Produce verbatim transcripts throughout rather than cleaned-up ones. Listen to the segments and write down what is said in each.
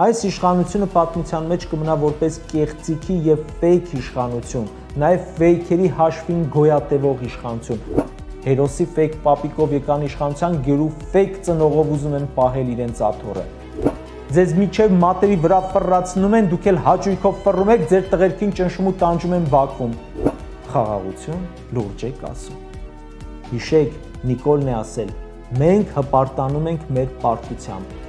Այս իշխանությունը պատմության մեջ կմնա որպես կեղծիքի և ֆեյք իշխանություն, նաև ֆեյքերի հաշվին գոյատևող իշխանություն։ Հերոսի ֆեյք պապիկով եկան իշխանության, գերու ֆեյք ծնողով ուզում են պահել իրենց աթոռը։ Ձեզ միջև մատերի վրա ֆռռացնում են, դուք էլ հաճույքով ֆռռում եք, ձեր տղերքին ճնշում ու տանջում են Բաքվում։ Խաղաղություն, լուրջ եք ասում։ Հիշեք, Նիկոլն է ասել, մենք հպարտանում ենք մեր պարտությամբ։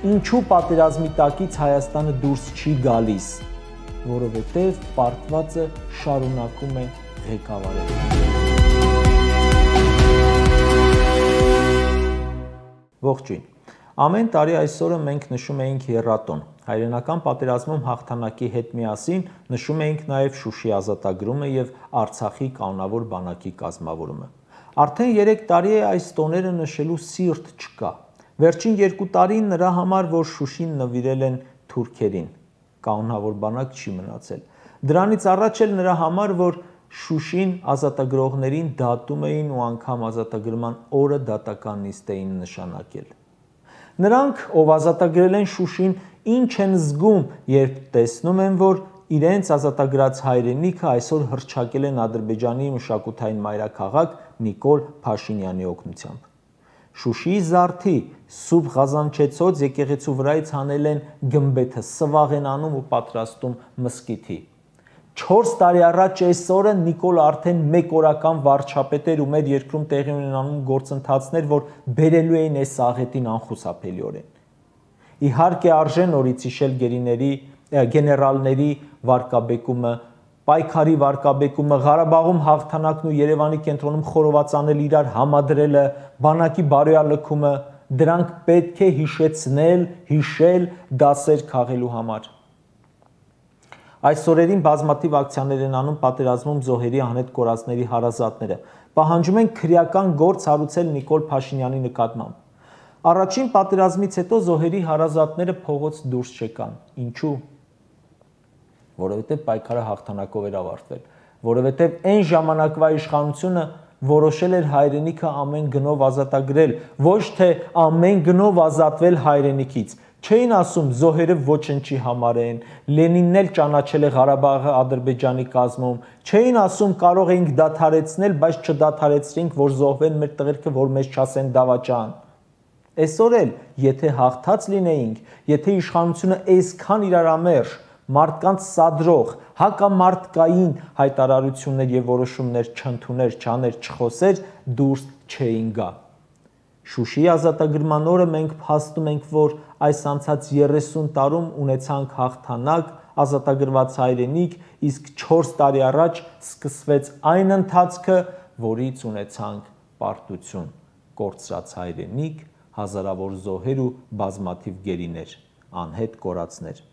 Ինչու պատերազմի տակից Հայաստանը դուրս չի գալիս, որովհետև պարտվածը շարունակում է ղեկավարել։ Ողջույն։ Ամեն տարի այսօրը մենք նշում էինք եռատոն։ Հայրենական պատերազմում հաղթանակի հետ միասին նշում էինք նաև Շուշի ազատագրումը և Արցախի կանոնավոր բանակի կազմավորումը։ Արդեն երեք տարի է այս տոները նշելու սիրտ չկա։ Վերջին երկու տարին նրա համար, որ Շուշին նվիրել են թուրքերին, կանոնավոր բանակ չի մնացել։ Դրանից առաջ էլ նրա համար, որ Շուշին ազատագրողներին դատում էին ու անգամ ազատագրման օրը դատական նիստ էին նշանակել։ Նրանք, ով ազատագրել են Շուշին, ինչ են զգում, երբ տեսնում են, որ իրենց ազատագրած հայրենիքը այսօր հռչակել են Ադրբեջանի մշակութային մայրաքաղաք Նիկոլ Փաշինյանի օգնությամբ։ Շուշիի զարդի Սուրբ Ղազանչեցոց եկեղեցու վրայից հանել են գմբեթը, սվաղ են անում ու պատրաստում մզկիթի։ Չորս տարի առաջ այս օրը Նիկոլը արդեն մեկ օրական վարչապետ էր ու մեր երկրում տեղի ունենալու գործընթացներ, որ բերելու էին այս աղետին անխուսափելիորեն։ Իհարկե արժե նորից հիշել գերիների, գեներալների վարկաբեկումը, պայքարի վարկաբեկումը, Ղարաբաղում հաղթանակն ու Երևանի կենտրոնում խորոված անել իրար համադրելը, բանակի բարոյալքումը, դրանք պետք է հիշեցնել, հիշել դասեր քաղելու համար։ Այս օրերին բազմաթիվ ակցիաներ են անում պատերազմում զոհերի անհետ կորածների հարազատները, պահանջում են քրեական գործ հարուցել Նիկոլ Փաշինյանի նկատմամբ։ Առաջին պատերազմից հետո զոհերի հարազատները փողոց դուրս չեկան։ Ինչու՞։ Որովհետև պայքարը հաղթանակով էր ավարտվել, որովհետև այն ժամանակվա իշխանությունը որոշել էր հայրենիքը ամեն գնով ազատագրել, ոչ թե ամեն գնով ազատվել հայրենիքից։ Չէին ասում զոհերը ոչնչի համար են, Լենինն էլ ճանաչել է Ղարաբաղը Ադրբեջանի կազմում, չէին ասում կարող էինք դադարեցնել, բայց չդադարեցրինք, որ զոհվեն մեր տղերքը, որ մեզ չասեն դավաճան։ Այսօր էլ, եթե հաղթած լինեինք, եթե իշխանությունը այսքան իրարամերժ, մարդկանց սադրող, հակամարտկային հայտարարություններ և որոշումներ չընդուներ, չաներ, չխոսեր, դուրս չէին գա։ Շուշիի ազատագրման օրը մենք փաստում ենք, որ այս անցած երեսուն տարում ունեցանք հաղթանակ, ազատագրված հայրենիք, իսկ չորս տարի առաջ սկսվեց այն ընթացքը, որից ունեցանք պարտություն, կորցրած հայրենիք, հազարավոր զոհեր ու բազմաթիվ գերիներ, անհետ կորածներ։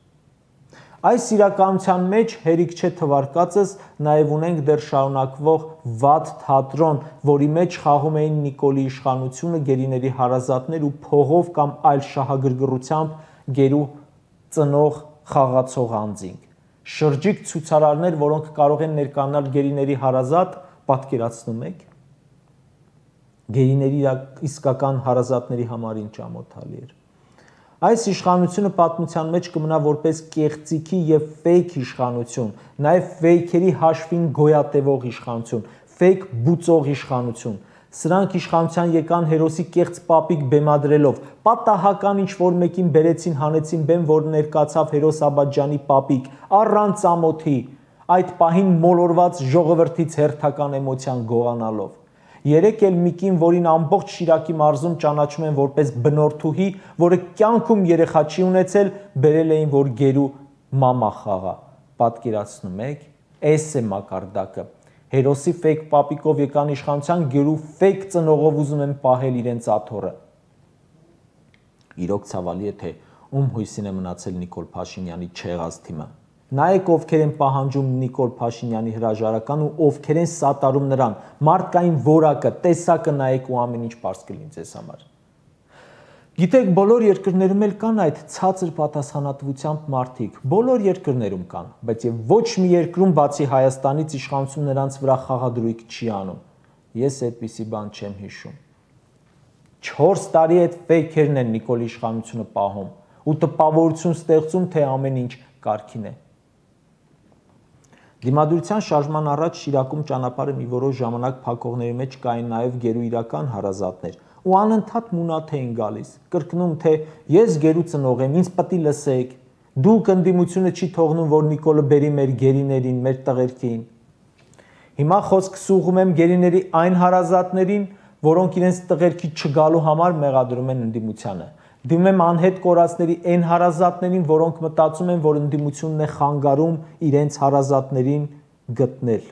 Այս իրականության մեջ հերիք չէ թվարկածս նաև ունենք դեռ շարունակվող վատ թատրոն, որի մեջ խաղում էին Նիկոլի իշխանությունը, գերիների հարազատներ ու փողով կամ այլ շահագրգռությամբ գերու ծնող խաղացող անձինք։ Շրջիկ ցուցարարներ, որոնք կարող են ներկայանալ գերիների հարազատ, պատկերացնում եք։ Գերիների իսկական հարազատների համար ինչ ամոթալի էր։ Այս իշխանությունը պատմության մեջ կմնա որպես կեղծիքի և ֆեյք իշխանություն, նաև ֆեյքերի հաշվին գոյատևող իշխանություն, ֆեյք բուծող իշխանություն։ Սրանք իշխանության եկան հերոսի կեղծ պապիկ բեմադրելով, պատահական ինչ-որ մեկին բերեցին, հանեցին բեմ, որ ներկացավ հերոս Աբաջյանի պապիկ, առանց ամոթի, այդ պահին մոլորված ժողովրդից հերթական էմոցիան գողանալով։ Երեկ էլ մի կին, որին ամբողջ Շիրակի մարզում ճանաչում են որպես բնորդուհի, որը կյանքում երեխա չի ունեցել, բերել էին, որ գերու մամա խաղա։ Պատկերացնում եք, էս է մակարդակը։ Հերոսի ֆեյք պապիկով եկան իշխանության, գերու ֆեյք ծնողով ուզում են պահել իրենց աթոռը։ Իրոք ցավալի է, թե ում հույսին է մնացել Նիկոլ Փաշինյանի չեղած թիմը։ Նայեք ովքեր են պահանջում Նիկոլ Փաշինյանի հրաժարական ու ովքեր են սատարում նրան, մարդկային որակը, տեսակը նայեք ու ամեն ինչ պարզ կլինի ձեզ համար։ Գիտեք, բոլոր երկրներում էլ կան այդ ցածր պատասխանատվությամբ մարդիկ, բոլոր երկրներում կան, բայց եւ ոչ մի երկրում բացի Հայաստանից իշխանություն նրանց վրա խաղադրույք չի անում։ Ես այդպիսի բան չեմ հիշում։ Չորս տարի այդ ֆեյքերն են Նիկոլի իշխանությունը պահում, ու տպավորություն ստեղծում, թե ամեն ինչ կարգին է։ Դիմադրության շարժման առաջ Շիրակում ճանապարհը մի որոշ ժամանակ փակողների մեջ կային նաև գերուիրական հարազատներ ու անընդհատ մունաթ էին գալիս, կրկնում, թե ես գերու ծնող եմ, ինձ պետք է լսեք, դուք ընդդիմությունը չի թողնում, որ Նիկոլը բերի մեր գերիներին, մեր տղերքին։ Հիմա խոսքս ուղղում եմ գերիների այն հարազատներին, որոնք իրենց տղերքի չգալու համար մեղադրում են ընդդիմությանը։ Դիմում եմ անհետ կորածների այն հարազատներին, որոնք մտածում են, որ ընդդիմությունն է խանգարում իրենց հարազատներին գտնել։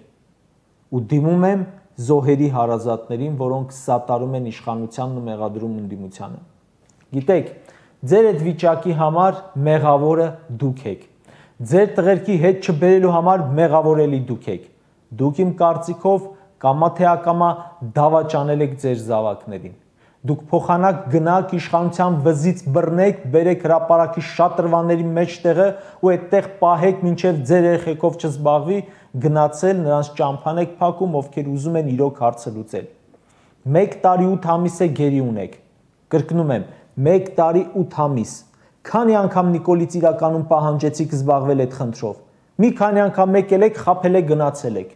Ու դիմում եմ զոհերի հարազատներին, որոնք սատարում են իշխանությանն ու մեղադրում ընդդիմությանը։ Գիտեք, ձեր այդ վիճակի համար մեղավորը դուք եք։ Ձեր տղերքի հետ չբերելու համար մեղավորելի դուք եք։ Դուք իմ կարծիքով կամա թե ակամա դավաճանել եք ձեր զավակներին։ Դուք փոխանակ գնաք իշխանության վզից բռնեք, բերեք հրապարակի շատրվանների մեջտեղը ու այդտեղ պահեք, մինչև ձեր երեխեքով չզբաղվի, գնացել նրանց ճամփան եք փակում, ովքեր ուզում են իրոք հարցը լուծել։ Մեկ տարի ութ ամիս է գերի ունեք։ Կրկնում եմ, մեկ տարի ութ ամիս։ Քանի անգամ Նիկոլից իրականում պահանջեցիք զբաղվել այդ խնդրով։ Մի քանի անգամ եկել եք, խաբել եք, գնացել եք։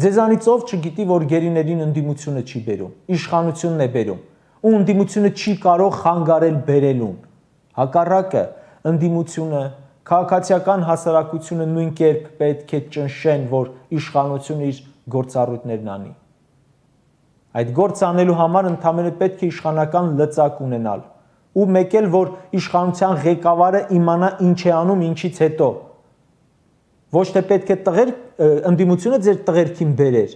Ձեզանից ով չգիտի, որ գերիներին ընդդիմությունը չի բերում, իշխանությունն է բերում, ու ընդդիմությունը չի կարող խանգարել բերելուն։ Հակառակը, ընդդիմությունը, քաղաքացիական հասարակությունը նույն կերպ պետք է ճնշեն, որ իշխանությունը իր գործառույթներն անի։ Այդ գործ անելու համար ընդհանրապես պետք է իշխանական լծակ ունենալ, ու մեկ էլ, որ իշխանության ղեկավարը իմանա ինչ է անում, ինչից հետո։ Ոչ թե պետք է տղեր ընդդիմությունը ձեր տղերքին բերեր,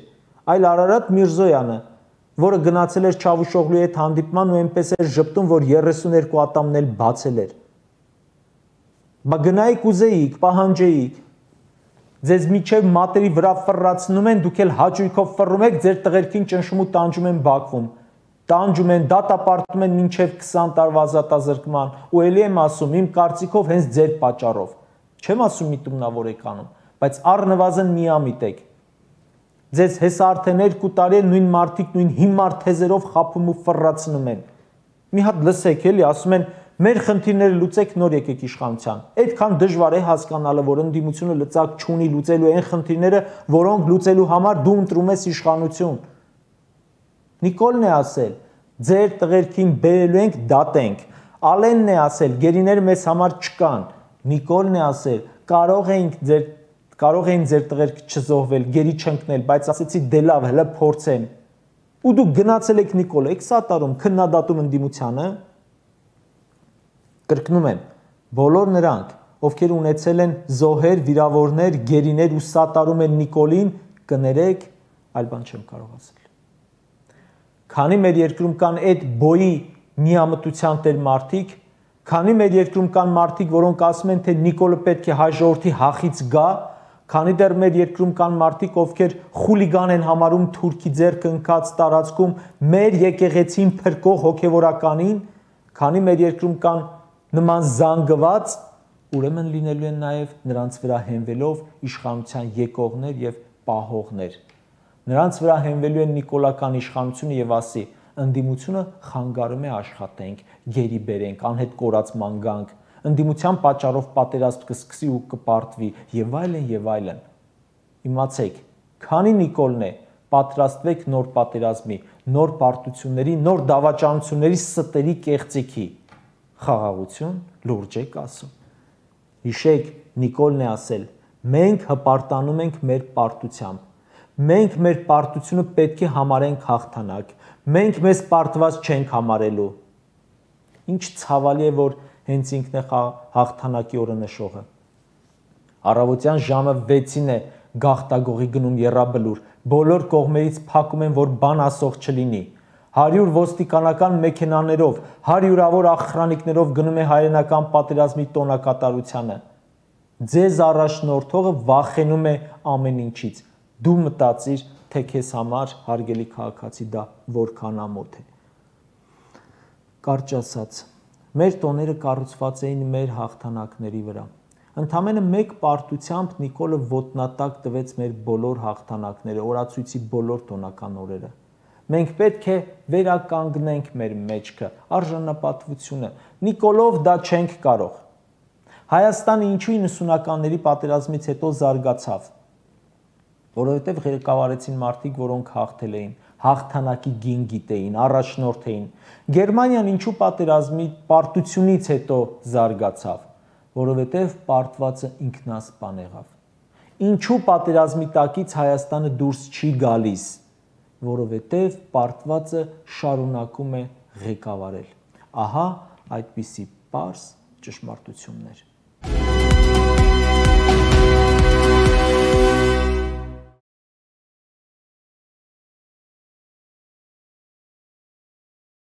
այլ Արարատ Միրզոյանը, որը գնացել էր Չավուշօղլուի հետ հանդիպման ու այնպես էր ժպտում, որ երեսուներկու ատամն էլ բացել էր։ Բա գնայիք ուզեիք, պահանջեիք։ Ձեզ միջև մատերի վրա ֆռռացնում են, դուք էլ հաճույքով ֆռռում եք, ձեր տղերքին ճնշում ու տանջում են Բաքվում։ Տանջում են, դատապարտում են մինչև քսան տարվա ազատազրկման, ու ելի եմ ասում, իմ կարծիքով հենց ձեր պատճառով։ Չեմ ասում միտումնավոր եք անում, բայց առնվազն միամիտ եք։ Ձեզ հեսա արդեն երկու տարի է նույն մարդիկ նույն հիմար թեզերով խաբում ու ֆռռացնում են։ Մի հատ լսեք էլի, ասում են մեր խնդիրները լուծեք, նոր եկեք իշխանության։ Այդքան դժվար է հասկանալը, որ ընդդիմությունը լծակ չունի լուծելու այն խնդիրները, որոնք լուծելու համար դու ընտրում ես իշխանություն։ Նիկոլն է ասել, ձեր տղերքին բերելու ենք, դատենք։ Ալենն է ասել, գերիները մեզ համար չկան։ Նիկոլն է ասել, կարող էինք ձեր կարող էին ձեր տղերքը չզոհվել, գերի չընկնել, բայց ասեցի դե լավ, հələ փորձեմ։ Ու դուք գնացել եք Նիկոլ, եք սատարում, քննադատում ընդդիմությանը։ Կրկնում եմ, բոլոր նրանք, ովքեր ունեցել են զոհեր, վիրավորներ, գերիներ ու սատարում են Նիկոլին, կներեք, այլ բան չեմ կարող ասել։ Քանի մեր երկրում կան այդ բոյի միամտության տեր մարդիկ, քանի մեր երկրում կան մարդիկ, որոնք ասում են, թե Նիկոլը պետք է հայ ժողովրդի հախից գա, քանի դեռ մեր երկրում կան մարդիկ, ովքեր խուլիգան են համարում թուրքի ձեռքը ընկած տարածքում մեր եկեղեցին փրկող հոգևորականին, քանի մեր երկրում կան նման զանգված, ուրեմն լինելու են նաև նրանց վրա հենվելով իշխանության եկողներ եւ պահողներ։ Նրանց վրա հենվելու են նիկոլական իշխանությունը եւ ասի, ընդդիմությունը խանգարում է աշխատենք, գերի բերենք, անհետ կորացման գանք, ընդդիմության պատճառով պատերազմ կսկսի ու կպարտվի եւ այլն եւ այլն։ Իմացեք, քանի Նիկոլն է, պատրաստվեք նոր պատերազմի, նոր պարտությունների, նոր դավաճանությունների, ստերի կեղծիքի։ Խաղաղություն լուրջ եք ասում։ Հիշեք, Նիկոլն է ասել, մենք հպարտանում ենք մեր պարտությամբ։ Մենք մեր պարտությունը պետք է համարենք հաղթանակ։ Մենք մեզ պարտված չենք համարելու։ Ինչ ցավալի է, որ հենց ինքն է հաղթանակի օրը նշողը։ Առավոտյան ժամը վեցին է գաղտագողի գնում եռաբլուր, բոլոր կողմերից փակում են, որ բան ասող չլինի։ հարյուր ոստիկանական մեքենաներով, հարյուրավոր աղխրանիկներով գնում է հայրենական պատերազմի տոնակատարությանը։ Ձեզ առաջնորդողը վախենում է ամեն ինչից։ Դու մտածիր, թե քեզ համար հարգելի քաղաքացի դա որքան ամոթ է։ Կարճ ասած, մեր տոները կառուցված էին մեր հաղթանակների վրա։ Ընդամենը մեկ պարտությամբ Նիկոլը ոտնատակ տվեց մեր բոլոր հաղթանակները, օրացույցի բոլոր տոնական օրերը։ Մենք պետք է վերականգնենք մեր մեջքը, արժանապատվությունը։ Նիկոլով դա չենք կարող։ Հայաստանը ինչու իննսունականների պատերազմից հետո զարգացավ, որովհետև ղեկավարեցին մարդիկ, որոնք հաղթել էին, հաղթանակի գին գիտեին, առաջնորդ էին։ Գերմանիան ինչու պատերազմի պարտությունից հետո զարգացավ, որովհետև պարտվածը ինքնասպան եղավ։ Ինչու պատերազմի տակից Հայաստանը դուրս չի գալիս, որովհետև պարտվածը շարունակում է ղեկավարել։ Ահա այդպիսի պարզ ճշմարտություններ։